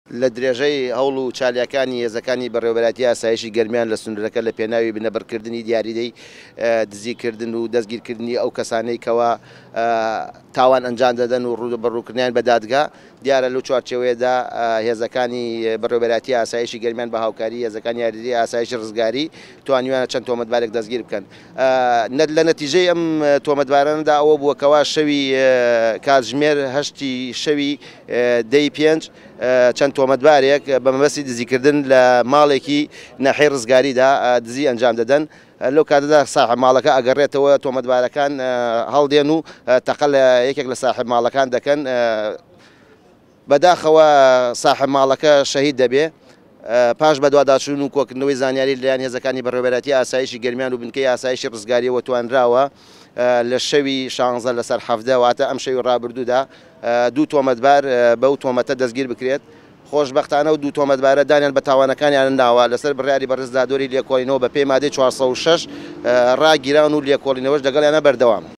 لە درێژەی هەوڵ و چالاکییەکانی هێزەکانی بەڕێوەبەرایەتی ئاسایشی گەرمیان لە سنوورەکە لە پێناوی بنەبڕکردنی دیاریدەی دزیکردن و دەستگیرکردنی ئەو کەسانەی کەوا تاوان ئەنجام دەدەن و ڕووبەڕووکردنیان بە دادگا، دیارە لەو چوارچێوەیەدا هێزەکانی بەڕێوەبەرایەتی ئاسایشی گەرمیان بە هاوکاری هێزەکانی یاریدەی ئاسایشی ڕزگاری توانیویانە چەند تۆمەتبارێک دەستگیر بکەن. لە نەتیجەی ئەم تۆمەتبارانەدا ئەوە بووە کەوا شەوی کاتژمێر هەشتی شەوی دەی پێنج چەند تۆمەتبارێک بە مەبەستی دزیکردن لە ماڵێکی ناحیەی ڕزگاریدا دزی ئەنجام دەدەن. لەو کاتەدا ساحێب ماڵەکە ئەگەڕێتەوە، تۆمەتبارەکان هەڵدێن و تەقە لە یەکێک لە ساحێب ماڵەکان دەکەن. بەداخەوە ساحێب ماڵەکە شەهید دەبێ. پاش بەدواداچوون و کۆکردنەوەی زانیاری لەلایەن هێزەکانی بەڕێوەبەرایەتی ئاسایشی گەرمیان و بنکەی ئاسایشی ڕزگارییەوە توانراوە لە شەوی شانزە لەسەر 17 واتە ئەم شەوی ڕابردوودا دوو تۆمەتبار بەو تۆمەتە دەستگیر بکرێت. خۆشبەختانە و دوو تۆمەتبارە دانیان بە تاوانەکانیان ناوە، لەسەر بڕیاری بەڕێز دادوەری لێکۆڵینەوە بەپێی مادەی 406 ڕاگیراون و لێکۆڵینەوەش لەگەڵیانە بەردەوامە.